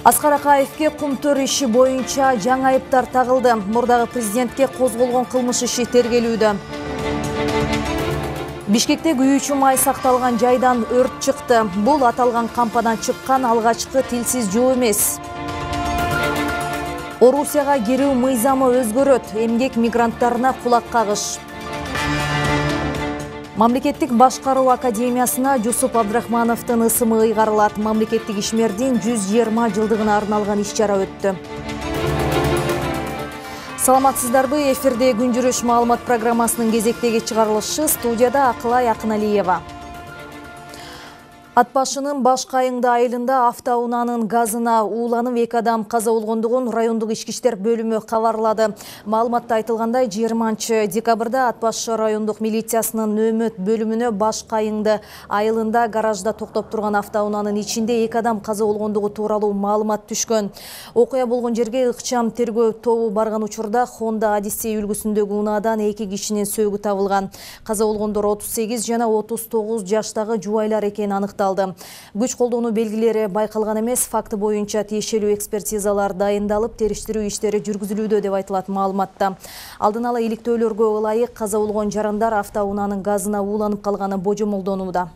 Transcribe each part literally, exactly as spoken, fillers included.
Аскар Акаевке кумтөр иши боюнча жаңы айыптар тагылды. Мурдагы президентке козголгон кылмыш иши тергелүүдө. Бишкекте күйүүчү май сакталган жайдан өрт чыкты. Бул аталган кампадан чыккан алгачкы тилсиз жоо эмес. Орусияга кирүү мыйзамы өзгөрөт. Эмгек мигранттарына кулак кагыш. Мамлекеттик башкаруу академиясына Жусуп Абдрахмановдун ысымы ыйгарылат. Мамлекеттик ишмердин жүз жыйырма жылдыгына арналган иш-чара өттү. Саламатсыздарбы? Эфирде күн жүрүш маалымат программасынын кезектеги чыгарылышы. Студияда Акылай Акыналиева. Ат башынын Баш Кайыңды айылында автоунаанын газына ууланып эки адам каза болгондугун райондук ички иштер бөлүмү кабарлады. Маалыматта айтылгандай, жыйырманчы декабрда Ат башы райондук милициясынын нөөмөт бөлүмүнө Баш Кайыңды айылында гаражда токтоп турган автоунаанын ичинде эки адам каза болгондугу тууралуу маалымат түшкөн. Окуя болгон жерге ыкчам тергөө тобу барган учурда Honda Odyssey үлгүсүндөгү унаадан эки кишинин сөөгү табылган. Каза болгондор отуз сегиз жана отуз тогуз жаштагы жубайлар экени аныкталды. Күч колдонуу белгилери байкалган эмес. Факты боюнча тиешелүү экспертизалар дайындалып, териштирүү иштери жүргүзүлүүдө деп айтылат маалыматта. Алдын ала иликтөөлөргө ылайык каза болгон жарандар автоунаанын газына ууланып калганы божомолдонууда.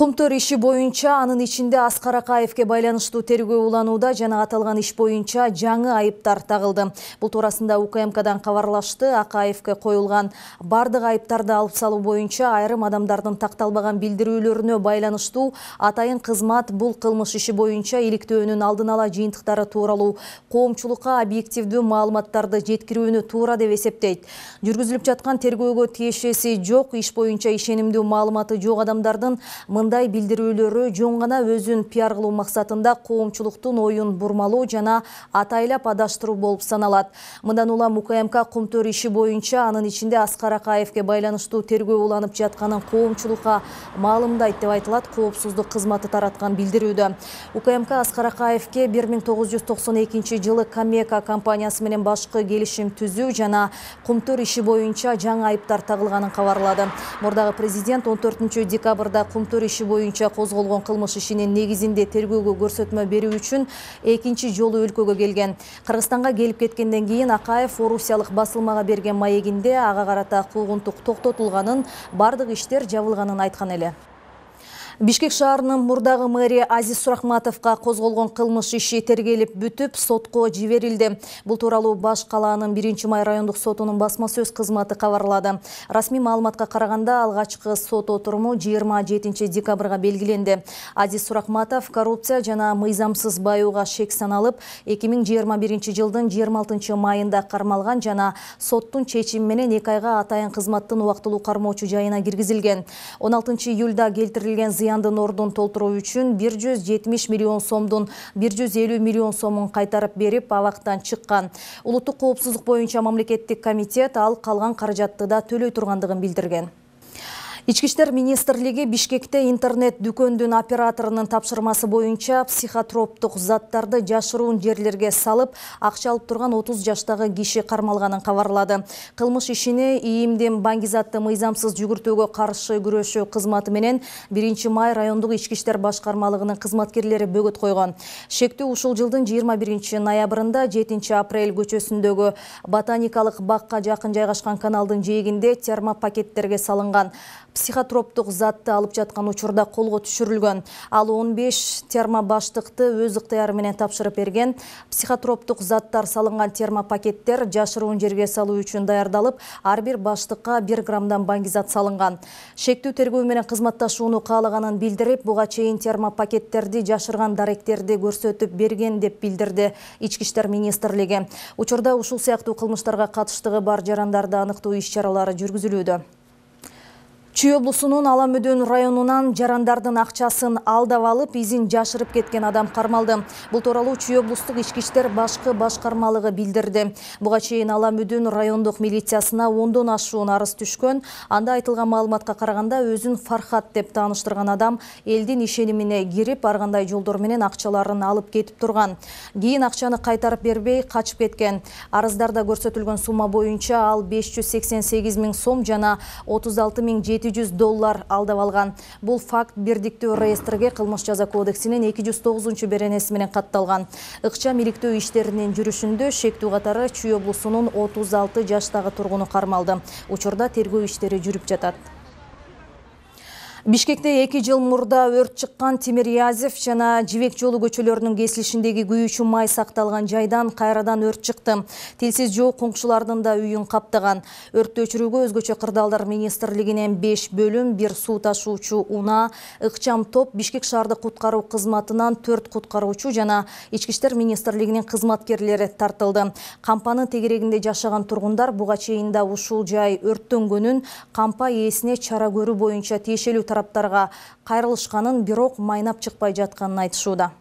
Кумтөр иши боюнча анын ичинде Аскар Акаевке байланыштуу тергөө уланууда жана аталган иш боюнча жаңы айыптар тагылды. Бул туурасында У К М Кдан кабарлашты. Акаевке коюлган бардык айыптарды алып салуу боюнча айрым адамдардын такталбаган билдирүүлөрүнө байланыштуу атайын кызмат бул кылмыш иши боюнча иликтөөнүн алдын ала жыйынтыктары тууралуу коомчулукка объективдүү маалыматтарды жеткирүүнү туура деп эсептейт. Жүргүзүлүп жаткан тергөөгө тиешеси жок, иш боюнча ишенимдүү маалыматы жок адамдардын мындай билдирүүлөрү жөн гана өзүн пиар кылуу максатында коомчулуктун оюн бурмалоо жана атайлап адаштыруу болуп саналат. Мындан улам У К М К кумтөр иши боюнча анын ичинде Аскар Акаевке байланыштуу тергөө уланып жатканын коомчулукка маалымдайт деп айтылат коопсуздук кызматы тараткан билдирүүдө. У К М К Аскар Акаевке бир миң тогуз жүз токсон экинчи жылы Камека компаниясы менен башкы келишим түзүү жана кумтөр иши боюнча жаңы айыптар тагылганын кабарлады. Мурдагы президент он төртүнчү декабрда кумтөр иши боюнча козголгон кылмыш ишинин негизинде тергөөгө көрсөтмө берүү үчүн экинчи жолу өлкөгө келген. Кыргызстанга келип кеткенден кийин Акаев орусиялык басылмага берген маегинде ага карата куугунтук токтотулганын, бардык иштер жабылганын айткан эле. Бишкек шаарынын мурдагы мэри Азиз Сурахматовго козголгон кылмыш иши тергелип бүтүп, сотко жиберилди. Бул тууралуу Баш калаанын биринчи май райондук сотунун басма сөз кызматы кабарлады. Расмий маалыматка караганда алгачкы сот отуруму жыйырма жетинчи декабрга белгиленди. Азиз Сурахматов коррупция жана мыйзамсыз баюуга шек саналып, эки миң жыйырма биринчи жылдын жыйырма алтынчы майында кармалган жана соттун чечими менен эки айга атайын кызматтын убактылуу кармоочу жайына киргизилген. он алтынчы июлда келтирилген зыяндын ордун толтуруу үчүн бир жүз жетимиш миллион сомдун бир жүз элүү миллион сомун кайтарып берип, абактан чыккан. Улуттук коопсуздук боюнча мамлекеттик комитет ал калган каражатты да төлөй тургандыгын билдирген. Ички иштер министрлиги Бишкекте интернет дүкөндүн операторунун тапшырмасы боюнча психотроптук заттарды жашыруун жерлерге салып, акча алып турган отуз жаштагы киши кармалганын кабарлады. Кылмыш ишини ИИМдин баңгизатты мыйзамсыз жүгүртүүгө каршы күрөшүү кызматы менен биринчи май райондук ички иштер башкармалыгынын кызматкерлери бөгөт койгон. Шектүү ушул жылдын жыйырма биринчи ноябрында жетинчи апрель көчөсүндөгү ботаникалык бакка жакын жайгашкан каналдын жээгинде термопакеттерге салынган психотроптук затты алып жаткан учурда колго түшүрүлгөн. Ал он беш термобаштыкты өз ыктыяры менен тапшырып берген. Психотроптук заттар салынган термопакеттер жашыруун жерге салуу үчүн даярдалып, ар бир баштыкка бир граммдан баңгизат салынган. Шектүү тергөө менен кызматташууну каалаганын билдирип, буга чейин термопакеттерди жашырган даректерди көрсөтүп берген деп билдирди Ички иштер министрлиги. Учурда ушул сыяктуу кылмыштарга катыштыгы бар жарандарды аныктоо иш-чаралары жүргүзүлүүдө. Чүй облусунун Аламөдөн районунан жарандардын акчасын алдап алып, изин жашырып кеткен адам кармалды. Бул тууралуу Чүй облустук ички иштер башкы башкармалыгы билдирди. Буга чейин Аламөдөн райондук милициясына ондон ашуун арыз түшкөн. Анда айтылган маалыматка караганда, өзүн Фархат деп тааныштырган адам элдин ишенимине кирип, ар кандай жолдор менен акчаларын алып кетип турган. Кийин акчаны кайтарып бербей качып кеткен. Арыздарда көрсөтүлгөн сумма боюнча ал беш жүз сексен сегиз миң сом жана отуз алты миң жети жүз доллар алдап алган. Бул факт бирдиктүү реестрге кылмыш жаза кодексинин эки жүз тогузунчу беренеси менен катталган. Ыкчам иликтөө иштеринин жүрүшүндө шектүү катары Чүй облусунун отуз алты жаштагы тургуну кармалды. Учурда тергөө иштери жүрүп жатат. Бишкекте эки жыл мурда өрт чыккан Тимирязев жана Жибек жолу көчөлөрүнүн кесилишиндеги күйүүчү май сакталган жайдан кайрадан өрт чыкты. Тилсиз жоо коңшулардын да үйүн каптаган. Өрттү өчүрүүгө өзгөчө кырдаалдар министрлигинен беш бөлүм, бир суу ташуучу унаа, ыкчам топ, Бишкек шаардык куткаруу кызматынан төрт куткаруучу жана ички иштер министрлигинин кызматкерлери тартылды. Кампанын тегерегинде жашаган тургундар буга чейин да ушул жай өрттөнгөнүн, кампа ээсине чара көрүү боюнча тиешелүү тараптарга кайрылышканын, бирок майнап чыкпай жатканын айтышууда.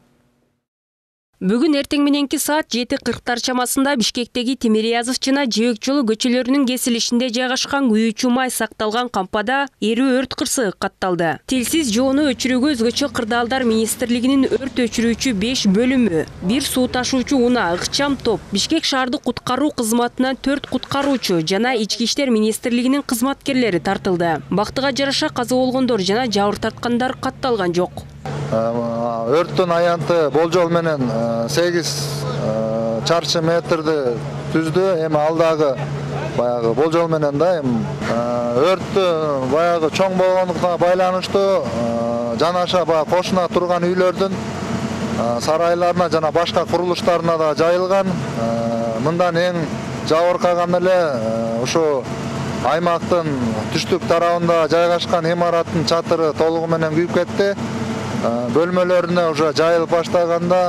Бүгүн эртең мененки саат жети кырктар чамасында Бишкектеги Тимирязев жана Жибек жолу көчөлөрүнүн кесилишинде жайгашкан күйүүчү май сакталган кампада эрүү өрт кырсыгы катталды. Тилсиз жоону өчүрүүгө өзгөчө кырдаалдар министрлигинин өрт өчүрүүчү беш бөлүмү, бир суу ташуучу унаа, ыкчам топ, Бишкек шаардык куткаруу кызматынан төрт куткаруучу жана ички иштер министрлигинин кызматкерлери тартылды. Бактыга жараша каза болгондор жана жабыр тарткандар катталган жок. Өрттүн аянты болжол менен сегиз чарчы метрди түздү. Эми алдагы баягы болжол менен да эми өрттү баягы чоң болгондуктан байланыштуу жанаша баягы кошуна турган үйлөрдүн сарайларына жана башка курулуштарына да жайылган. Мындан эң жабыркаган эле ушу аймактын түштүк тарабында жайгашкан имараттын чатыры толугу менен күйүп кетти. Бөлмөлөрүнө уже жайылып баштаганда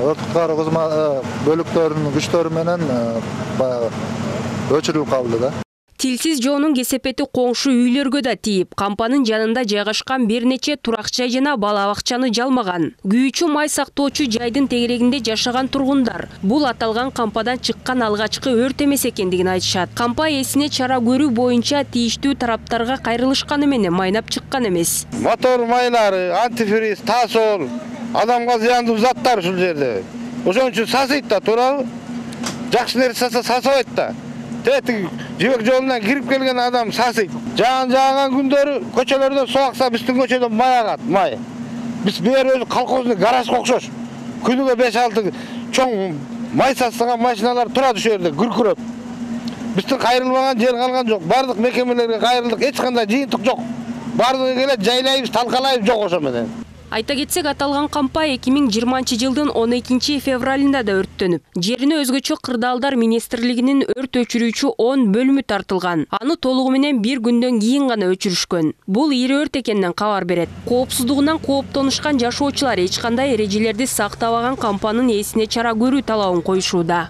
өрт куткаруу кызмат бөлүктөрүнүн күчтөрү менен баягы өчүрүлүп калды да. Тилсиз жоонун кесепети коңшу үйлөргө да тийип, кампанын жанында жайгашкан бир нече турак жай жана бала бакчаны жалмаган. Күйүүчү май сактоочу жайдын тегерегинде жашаган тургундар бул аталган кампадан чыккан алгачкы өрт эмес экендигин айтышат. Кампа ээсине чара көрүү боюнча тийиштүү тараптарга кайрылышканы менен майнап чыккан эмес. Мотор майлары, антифриз, тасол, адамга зыяндуу заттар ушул жерде. Ошон үчүн сасыйт да, туурабы? Жакшы нерсе саса сасабайт да. Тетик Жибек жолунан кирип келген адам сасыйт. Жаан жааган күндөрү көчөлөрдөн суу акса, биздин көчөдөн май агат, май. Биз бер өзү колхоздун гаражга окшош. Күнүгө беш алты чоң май сасыган машиналар турат ошол жерде күркүрөп. Биздин кайрылбаган жер калган жок. Бардык мекемелерге кайрылдык, эч кандай жыйынтык жок. Бардыгы келет, жайлайбыз, талкалайбыз, жок ошо менен. Айта кетсек, аталган кампа эки миң жыйырманчы жылдын он экинчи февралында да өрттөнүп, жерине өзгөчө кырдаалдар министрлигинин өрт өчүрүүчү он бөлүмү тартылган. Аны толугу менен бир күндөн кийин гана өчүрүшкөн. Бул ири өрт экенинен кабар берет. Коопсуздугунан кооптонушкан жашоочулар эч кандай эрежелерди сактабаган кампанын ээсине чара көрүү талабын коюшууда.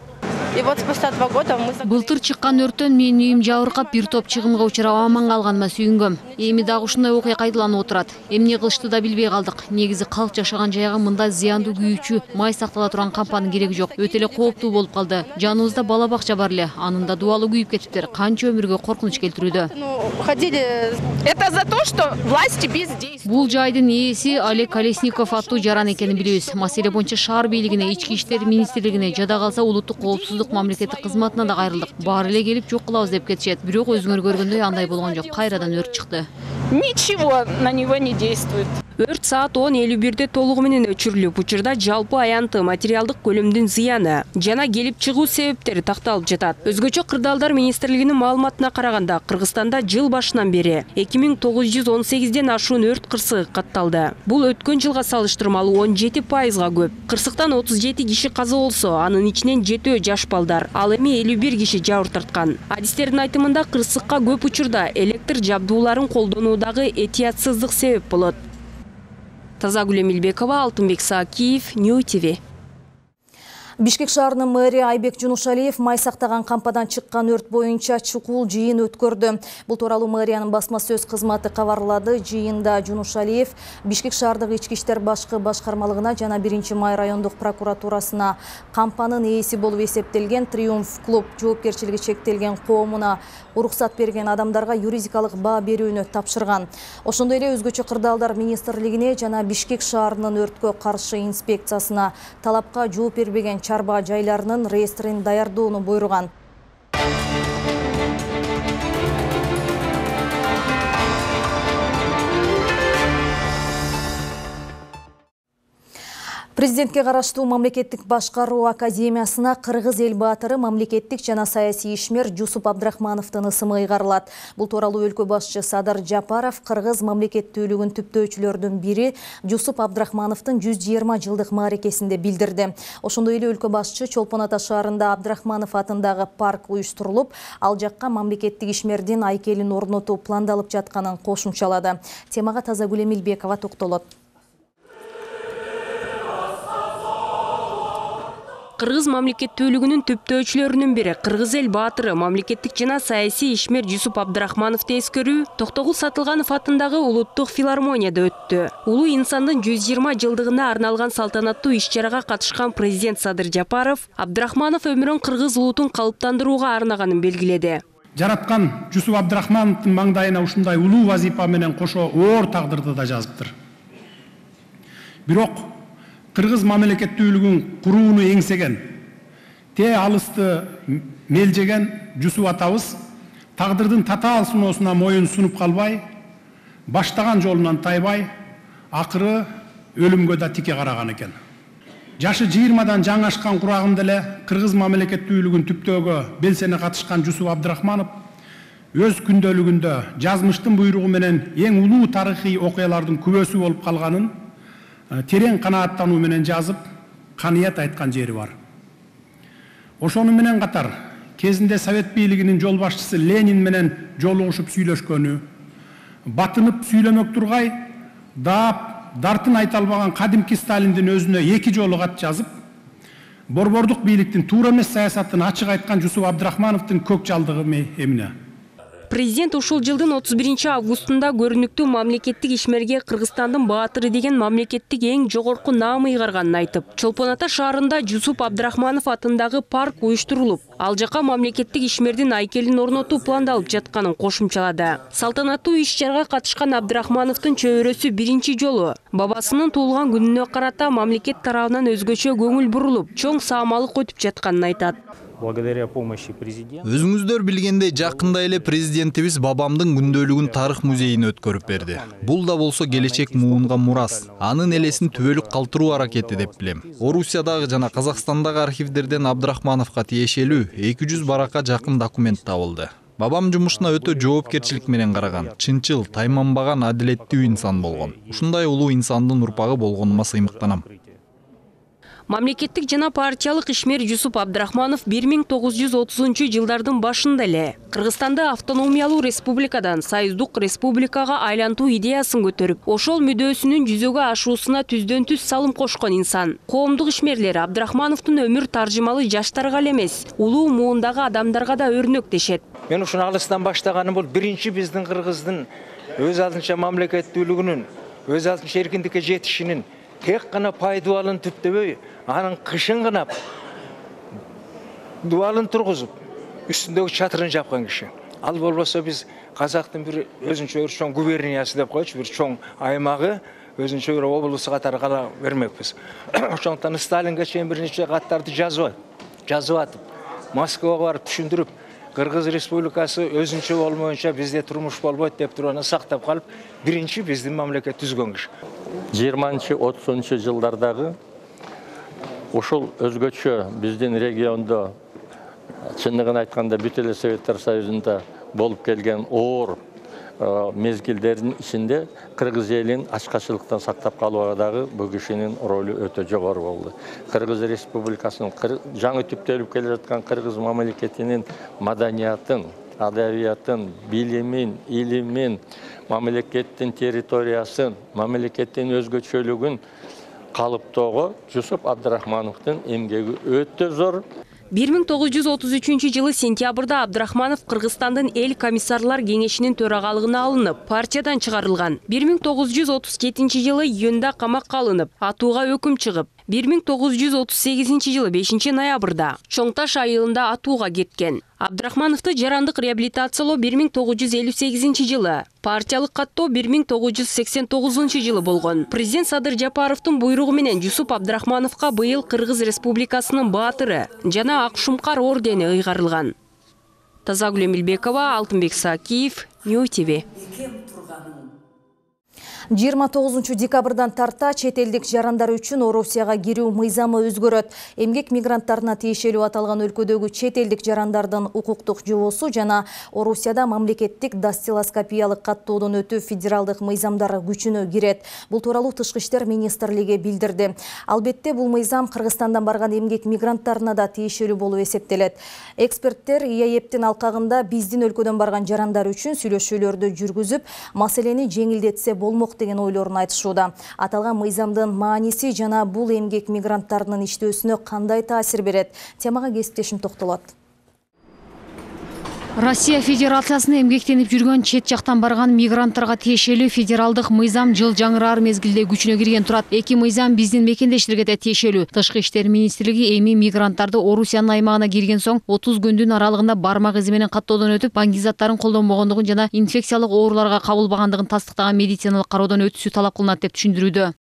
Былтыр чыккан өрттөн менин үйүм жабыркап, бир топ чыгымга учурап аман калганыма сүйүнгөм. Эми дагы ушундай окуя кайдаланып отурат. Эмне кылышты да билбей калдык. Негизи калк жашаган жайга мындай зыяндуу күйүүчү май сактала турган кампанын кереги жок. Өтө эле кооптуу болуп калды. Жаныбызда бала бакча бар эле. Анын да дубалы күйүп кетиптир. Канча өмүргө коркунуч келтирүүдө. Это за то, что власти бездействуют. Бул жайдын ээси Олег Колесников аттуу жаран экенин билебиз. Маселе боюнча шаар бийлигине, ички иштер министрлигине, жада калса улуттук коопсуздук мамлекеттик кызматына да кайрылдык. Баары эле келип жок кылабыз деп кетишет. Бирок өзүңөр көргөндөй андай болгон жок. Кайрадан өрт чыкты. Ничего на него не действует. Өрт саат он элүү бирде толугу менен өчүрүлүп, учурда жалпы аянты материалдык көлөмдүн зыяны жана келип чыгуу себептери такталып жатат. Өзгөчө кырдаалдар министрлигинин маалыматына караганда, Кыргызстанда жыл башынан бери эки миң тогуз жүз он сегизден ашуун өрт кырсыгы катталды. Бул өткөн жылга салыштырмалуу он жети пайызга көп. Кырсыктан отуз жети киши каза болсо, анын ичинен жетөө жаш балдар, ал эми элүү бир киши жабыр тарткан. Адистердин айтымында, кырсыкка көп учурда электр жабдууларын колдонуудагы этиятсыздык себеп болот. Тазагүл Эмилбекова, Алтынбек Саакиев, Нью ТВ. Бишкек шаарынын мэри Айбек Жунушалиев май сактаган кампадан чыккан өрт боюнча чукул жыйын өткөрдү. Бул тууралуу мэриянын басма сөз кызматы кабарлады. Жыйында Жунушалиев Бишкек шаардык ички иштер башкы башкармалыгына жана биринчи май райондук прокуратурасына кампанын ээси болуп эсептелген Триумф клуб жоопкерчилиги чектелген коомуна уруксат берген адамдарга юридикалык баа берүүнү тапшырган. Ошондой эле өзгөчө кырдаалдар министрлигине жана Бишкек шаарынын өрткө каршы инспекциясына талапка жооп бербеген чарба жайларынын реестрин даярдоону буйруган. Президентке караштуу мамлекеттик башкаруу академиясына Кыргыз эл баатыры мамлекеттик жана саясий ишмер Жусуп Абдрахмановдун ысымы ыйгарылат. Бул тууралуу өлкө башчы Садыр Жапаров Кыргыз мамлекеттүүлүгүн түптөөчүлөрдүн бири Жусуп Абдрахмановдун жүз жыйырма жылдык мааракесинде билдирди. Ошондой эле өлкө башчы Чолпон Ата шаарында Абдрахманов атындагы парк уюштурулуп, ал жакка мамлекеттик ишмердин айкелин орнотуу пландалып жатканын кошумчалады. Темага Тазагүл Эмилбекова токтолот. Кыргыз мамлекеттүүлүгүнүн түптөөчүлөрүнүн бири Кыргыз эл баатыры мамлекеттик жана саясий ишмер Жусуп Абдрахмановду эскерүү Токтогул Сатылганов атындагы улуттук филармонияда өттү. Улуу инсандын жүз жыйырма жылдыгына арналган салтанаттуу иш-чарага катышкан президент Садыр Жапаров Абдрахманов өмүрүн кыргыз улутун калыптандырууга арнаганын белгиледи. Жараткан Жусуп Абдрахмановдун маңдайына ушундай улуу вазипа менен кошо оор тагдырды да жазыптыр. Бирок Кыргыз мамлекеттүүлүгүн курууну эңсеген, те алысты мелжеген Жусуп атабыз тагдырдын татаал суноосуна моюн сунуп калбай, баштаган жолунан тайбай, акыры өлүмгө да тике караган экен. Жашы жыйырмадан жаңашкан курагында эле Кыргыз мамлекеттүүлүгүн түптөөгө белсене катышкан Жусуп Абдрахманов өз күндөлүгүндө жазмыштын буйругу менен эң улуу тарыхый окуялардын күбөсү болуп калганын терең канааттануу менен жазып, каныят айткан жери бар. Ошону менен катар кезинде Совет бийлигинин жол башчысы Ленин менен жолугушуп сүйлөшкөнү, батынып сүйлөмөк тургай, даап, дартын айта албаган кадимки Сталиндин өзүнө эки жолу кат жазып, борбордук бийликтин туура эмес саясатын ачык айткан Жусуп Абдрахмановдун көк жалдыгы эмне? Президент ушул жылдын отуз биринчи августунда көрүнүктүү мамлекеттик ишмерге Кыргызстандын баатыры деген мамлекеттик эң жогорку наам ыйгарганын айтып, Чолпон Ата шаарында Жусуп Абдрахманов атындагы парк уюштурулуп, ал жакка мамлекеттик ишмердин айкелин орнотуу пландалып жатканын кошумчалады. Салтанаттуу иш-чарага катышкан Абдрахмановдун чөбөрөсү биринчи жолу бабасынын туулган күнүнө карата мамлекет тарабынан өзгөчө көңүл бурулуп, чоң саамалык өтүп жатканын айтат. Благодаря помощи президента. Өзүңүздөр билгендей, жакында эле президентибиз бабамдын күндөлүгүн тарых музейине өткөрүп берди. Бул да болсо келечек муунга мурас, анын элесин түбөлүк калтыруу аракети деп билем. Орусиядагы жана Казакстандагы архивдерден Абдрахмановго тиешелүү эки жүз баракка жакын документ табылды. Бабам жумушуна өтө жоопкерчилик менен караган, чынчыл, тайманбаган, адилеттүү инсан болгон. Ушундай улуу инсандын урпагы болгонума сыймыктанам. Мамлекеттик жана партиялык ишмер Жусуп Абдрахманов бир миң тогуз жүз отузунчу жылдардын башында эле Кыргызстанды автономиялуу республикадан союздук республикага айлантуу идеясын көтөрүп, ошол мүдөөсүнүн жүзөгө ашуусуна түздөн түз салым кошкон инсан. Коомдук ишмерлер Абдрахмановдун өмүр таржымалы жаштарга эле эмес, улуу муундагы адамдарга да өрнөк дешет. Мен ушуну алыстан баштаганым бул биринчи биздин Кыргыздын өз алдынча мамлекеттүүлүгүнүн, өз алдынча эркиндикке жетишинин тек гана пай дуалын түптөбөй, анын кышын гынап, дуалын тургузуп, үстүндөгү чатырын жапкан киши. Ал болбосо биз казактын бир өзүнчө чоң губерниясы деп койчу, бир чоң аймагы, өзүнчө бир облусу катары кала бермекпиз. Ошондуктан Сталинге чейин бир нече каттарды жазып, жазып атып, Москвага барып түшүндүрүп, Кыргыз Республикасы өзүнчө болмоюнча бизде турмуш болбойт деп туруп аны сактап калып, биринчи биздин мамлекет түзгөн киши. жыйырманчы отузунчу жылдардагы ушул өзгөчө биздин региондо, чындыгын айтканда бүт эле Советтер Союзунда болуп келген оор мезгилдердин ичинде Кыргыз элин ачкачылыктан сактап калууга дагы бул кишинин ролу өтө жогору болду. Кыргыз Республикасынын жаңы түптөлүп келе жаткан Кыргыз мамлекетинин маданиятын, адабиятын, билимин, илимин, мамлекеттин территориясын, мамлекеттин өзгөчөлүгүн калыптоого Жусуп Абдрахмановдун эмгеги өтө зор. бир миң тогуз жүз отуз үчүнчү жылы сентябрда Абдрахманов Кыргызстандын эл комиссарлар кеңешинин төрагалыгына алынып, партиядан чыгарылган. бир миң тогуз жүз отуз жетинчи жылы июнда камакка алынып, атууга өкүм чыгып, бир миң тогуз жүз отуз сегизинчи жылы бешинчи ноябрда Чоң Таш айылында атууга кеткен. Абдрахмановду жарандык реабилитациялоо бир миң тогуз жүз элүү сегизинчи жылы, партиялык каттоо бир миң тогуз жүз сексен тогузунчу жылы болгон. Президент Садыр Жапаровдун буйругу менен Жусуп Абдрахмановго быйыл Кыргыз Республикасынын баатыры жана Ак Шумкар ордени ыйгарылган. Тазагүл Эмилбекова, Алтынбек Сакиев, Нью ти ви. жыйырма тогузунчу декабрдан тарта чет элдик жарандар үчүн Орусияга кирүү мыйзамы өзгөрөт. Эмгек мигранттарына тиешелүү аталган өлкөдөгү чет элдик жарандардын укуктук жобосу жана Орусияда мамлекеттик дастилоскопиялык каттоодон өтүү федералдык мыйзамдары күчүнө кирет. Бул тууралуу Тышкы иштер министрлиги билдирди. Албетте бул мыйзам Кыргызстандан барган эмгек мигранттарына да тиешелүү болуп эсептелет. Эксперттер ИАЭПтин алкагында биздин өлкөдөн барган жарандар үчүн сүйлөшүүлөрдү жүргүзүп, маселени жеңилдетсе болмок деген ойлорун айтышууда. Аталган мыйзамдын мааниси жана бул эмгек мигранттарынын иштөөсүнө кандай таасир берет? Темага кесиптешим токтолот. Россия Федерациясына эмгектенип жүргөн чет жактан барган мигранттарга тиешелүү федералдык мыйзам жыл жаңыраар мезгилде күчүнө кирген турат. Эки мыйзам биздин мекендештерге да тиешелүү. Тышкы иштер министрлиги эми мигранттарды Орусиянын аймагына кирген соң отуз күндүн аралыгында бармак изи менен каттоодон өтүп, баңгизаттарын колдонбогондугун жана инфекциялык ооруларга кабылбагандыгын тастыктаган медициналык кароодон өтүүсү талап кылынат деп түшүндүрүүдө.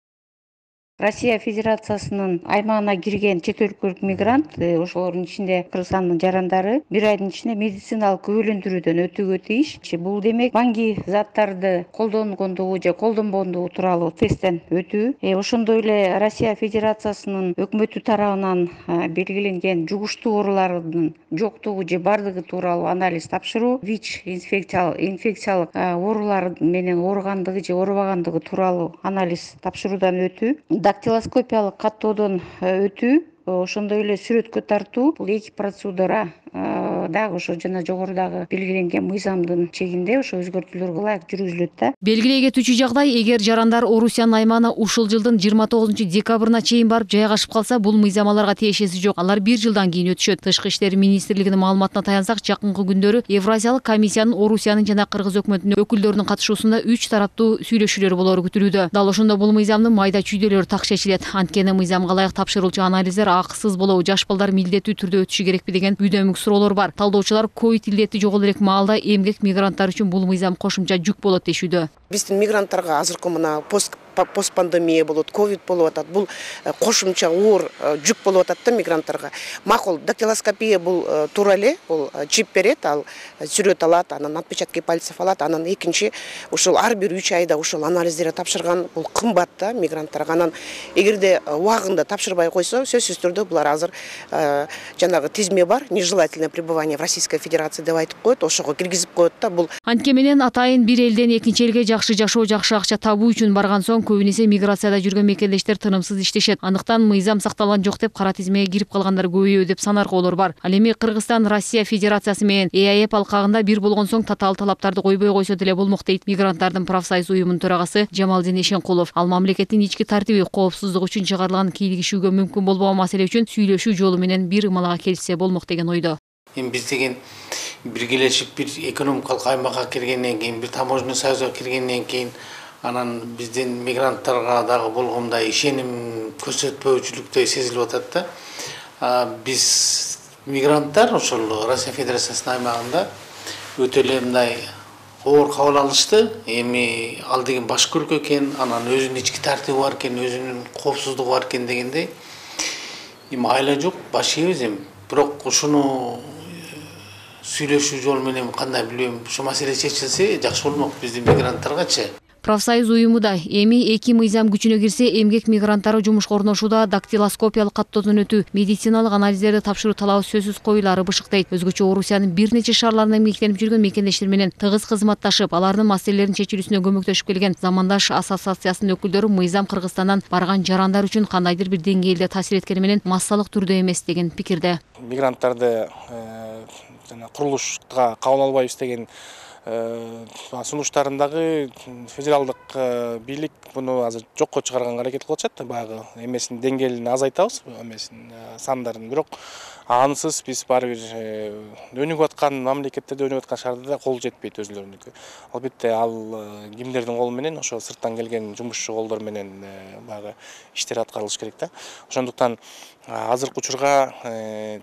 Россия Федерациясынын аймагына кирген чет өлкөлүк мигрант, ошолордун ичинде Кыргызстандын жарандары бир айдын ичинде медициналык күбөлөндүрүүдөн өтүүгө тийиш. Бул демек банги заттарды колдонгондугу же колдонбогондугу тууралуу тесттен өтүү. Ошондой эле Россия Федерациясынын өкмөтү тарабынан белгиленген жугуштуу оорулардын жоктугу же бардыгы тууралуу анализ тапшыруу, ВИЧ инфекциялык инфекциялык оорулар менен ооругандыгы же оорубагандыгы тууралуу анализ тапшыруудан өтүү, дактилоскопиялык каттоодон өтүү, ошондой эле сүрөткө тартуу. Бул эки процедура дагы ошо жана жогорудагы белгиленген мыйзамдын чегинде ошо өзгөртүүлөргө ылайык жүргүзүлөт да. Белгилей кетүүчү жагдай, эгер жарандар Орусиянын аймагына ушул жылдын жыйырма тогузунчу декабрына чейин барып жайгашып калса, бул мыйзам аларга тиешеси жок. Алар бир жылдан кийин өтүшөт. Тышкы иштер министрлигинин маалыматына таянсак, жакынкы күндөрү Евразиялык комиссиянын Орусиянын жана Кыргыз өкмөтүнүн өкүлдөрүнүн катышуусунда үч тараптуу сүйлөшүүлөр болору күтүлүүдө. Дал ошондо бул мыйзамдын майда чүйдөлөрү так чечилет. Анткени мыйзамга ылайык тапшырылчу анализдер акысыз болобу, жаш балдар милдеттүү түрдө өтүшү керекпи деген бүйдөмүк суроолор бар. Талдоочулар ковид илдети жогол элек маалда эмгек мигранттар үчүн бул мыйзам кошумча жүк болот дешүүдө. Биздин мигранттарга азыркы мына пост постпандемия болот, ковид болуп атат. Бул кошумча оор жүк болуп атат да мигранттарга. Макул, дактилоскопия бул туура эле, бул чип берет, ал сүрөт алат, анан отпечатки пальцев алат, анан экинчи ошол ар бир үч айда ошол анализдерди тапшырган, бул кымбат да мигранттарга. Анан эгерде убагында тапшырбай койсо, сөзсүз түрдө булар азыр жанагы тизме бар, нежелательное пребывание в Российской Федерации деп айтып коет, ошого киргизип коет да. Бул антке менен атайын бир элден экинчи элге жакшы жашоо, жакшы акча табуу үчүн барган соң көбүнесе миграцияда жүргөн мекендештер тынымсыз иштешет. Андыктан мыйзам сакталган жок деп кара тизмеге кирип калгандар көбөйөбү деп санаркоолор бар. Ал эми Кыргызстан Россия Федерациясы менен ИАЭП алкагында бир болгон соң татаал талаптарды койбой койсо деле болмок дейт мигранттардын профсоюз уюмунун төрагасы Жамалдин Эшенкулов. Ал мамлекеттин ички тартиби, коопсуздук үчүн чыгарылган кийлигишүүгө мүмкүн болбогон маселе үчүн сүйлөшүү жолу менен бир ымалага келишсе болмок деген ойдо. Эми биз деген биргелешип бир экономикалык аймакка киргенден кийин, бир таможенный союзга киргенден кийин анан биздин мигранттарга дагы болгондой ишеним көрсөтпөөчүлүктөй сезилип атат да. Биз мигранттар ошол Россия Федерациясынын аймагында өтө эле мындай оор кабыл алышты. Эми ал деген башка өлкө экен, анан өзүнүн ички тартиби бар экен, өзүнүн коопсуздугу бар экен дегендей. Эми айла жок, баш ийбиз эми. Бирок ушуну сүйлөшүү жолу менен кандай билбейм, ушу маселе чечилсе жакшы болмок биздин мигранттаргачы. Профсоюз уюму да эми эки мыйзам күчүнө кирсе, эмгек мигранттары жумушка орношууда дактилоскопиялык каттоодон өтүү, медициналык анализдерди тапшыруу талабы сөзсүз коюлары бышыктайт. Өзгөчө Орусиянын бир нече шаарларында эмгектенип жүргөн мекендештер менен тыгыз кызматташып, алардын маселелерин чечилүүсүнө көмөктөшүп келген Замандаш ассоциациясынын өкүлдөрү мыйзам Кыргызстандан барган жарандар үчүн кандайдыр бир деңгээлде таасир эткени менен массалык түрдө эмес деген пикирде. Мигранттарды жана курулушка кабыл албайбыз деген сунуштарындагы федералдык бийлик буну азыр жокко чыгарганга аракет кылып атышат. Баягы эмесин деңгээлин азайтабыз, эмесин сандарын. Бирок ансыз биз баары бир өнүгүп аткан мамлекеттерде, өнүгүп аткан шаарда кол жетпейт өзүлөрүнүкү. Албетте ал кимдердин колу менен, ошо сырттан келген жумушчу колдор менен баягы иштер аткарылыш керек да. Ошондуктан азыркы учурга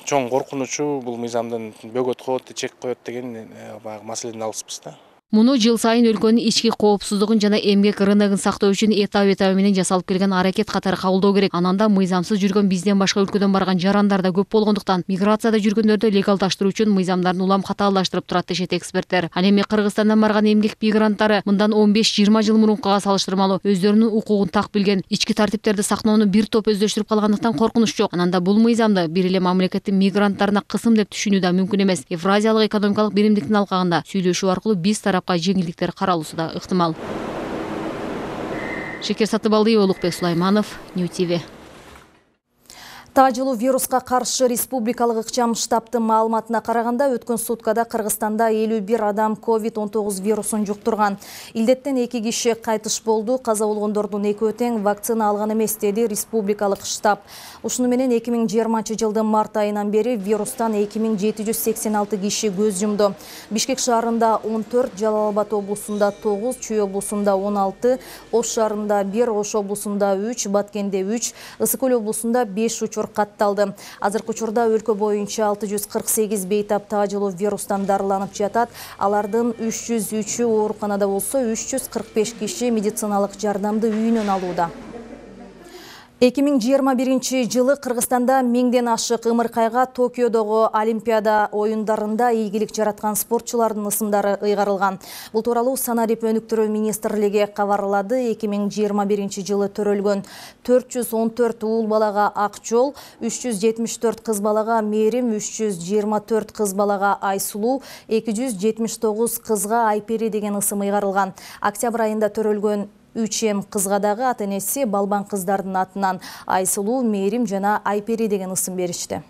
чоң коркунучу бул мыйзамдын бөгөт коет, чек коет деген баягы маселеден алыспыз да. Муну жыл сайын өлкөнүн ички коопсуздугун жана эмгек рыногун сактоо үчүн этап-этабы менен жасалып келген аракет катары кабылдоо керек. Ананда мыйзамсыз жүргөн бизден башка өлкөдөн барган жарандар да көп болгондуктан миграцияда жүргөндөрдү легалдаштыруу үчүн мыйзамдарын улам катаалдаштырып турат дешет эксперттер. Ал эми Кыргызстандан барган эмгек мигранттары мындан он беш жыйырма жыл мурункуга салыштырмалуу өздөрүнүн укугун так билген, ички тартиптерди сактоону бир топ өздөштүрүп калгандыктан коркунуч жок. Ананда бул мыйзамды бир эле мамлекеттин мигранттарына кысым деп түшүнүү да мүмкүн эмес. Евразиялык экономикалык биримдиктин алкагында сүйлөшүү аркылуу биз тарапка жеңилдиктер каралуусу да ыктымал. Шекер Сатыбалдиева, Улукбек Сулайманов, Нью ти ви. Тажылуу вируска каршы республикалык ыкчам штабтын маалыматына караганда өткөн суткада Кыргызстанда элүү бир адам ковид он тогуз вирусун жуктурган. Илдеттен эки киши кайтыш болду. Каза болгондордун экөө тең вакцина алган эмес, деди республикалык штаб. Ушуну менен эки миң жыйырманчы жылдын март айынан бери вирустан эки миң жети жүз сексен алты киши көз жумду. Бишкек шаарында он төрт, Жалал Абад облусунда тогуз, Чүй облусунда он алты, Ош шаарында бир, Ош облусунда үч, Баткенде үч, Ысык Көл облусунда беш учур катталды. Азыркы учурда өлкө боюнча алты жүз кырк сегиз бейтап тажылуу вирустан дарыланып жатат. Алардын үч жүз үчү ооруканада болсо, үч жүз кырк беш киши медициналык жардамды үйүнөн алууда. эки миң жыйырма биринчи жылы Кыргызстанда миңден ашык ымыркайга Токиодогу Олимпиада оюндарында ийгилик жараткан спортчулардын ысымдары ыйгарылган. Бул тууралуу Санарип өнүктүрүү министрлиги кабарлады. эки миң жыйырма биринчи жылы төрөлгөн төрт жүз он төрт уул балага ак жол, үч жүз жетимиш төрт кыз балага мээрим, үч жүз жыйырма төрт кыз балага Айсулуу, эки жүз жетимиш тогуз кызга Айпери деген ысым ыйгарылган. Октябрь айында төрөлгөн үч эм кызга дагы ата-энеси балбан кыздардын атынан Айсулуу, Мээрим жана Айпери деген ысым беришти.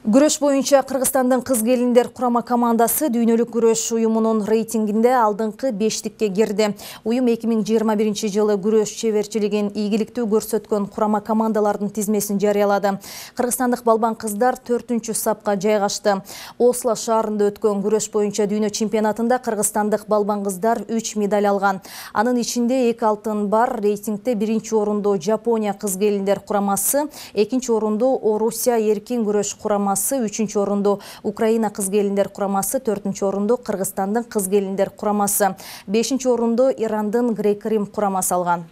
Күрөш боюнча Кыргызстандын кыз келиндер курама командасы дүйнөлүк күрөш уюмунун рейтингинде алдыңкы бештикке кирди. Уюм эки миң жыйырма биринчи жылы күрөш чеберчилигин ийгиликтүү көрсөткөн курама командалардын тизмесин жарыялады. Кыргызстандык балбан кыздар төртүнчү сапка жайгашты. Осло шаарында өткөн күрөш боюнча дүйнө чемпионатында кыргызстандык балбан кыздар үч медаль алган. Анын ичинде эки алтын бар. Рейтингде биринчи орунду Жапония кыз келиндер курамасы, экинчи орунду Орусия эркин күрөш курамасы, үчүнчү орунду Украина кыз келиндер курамасы, төртүнчү орунду Кыргызстандын кыз келиндер курамасы, бешинчи орунду Ирандын Грек-Рим курамасы алган.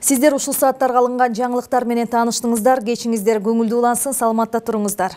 Сиздер ушул сааттарга алынган жаңылыктар менен тааныштыңыздар. Кечиңиздер көңүлдүү улансын, саламатта туруңуздар.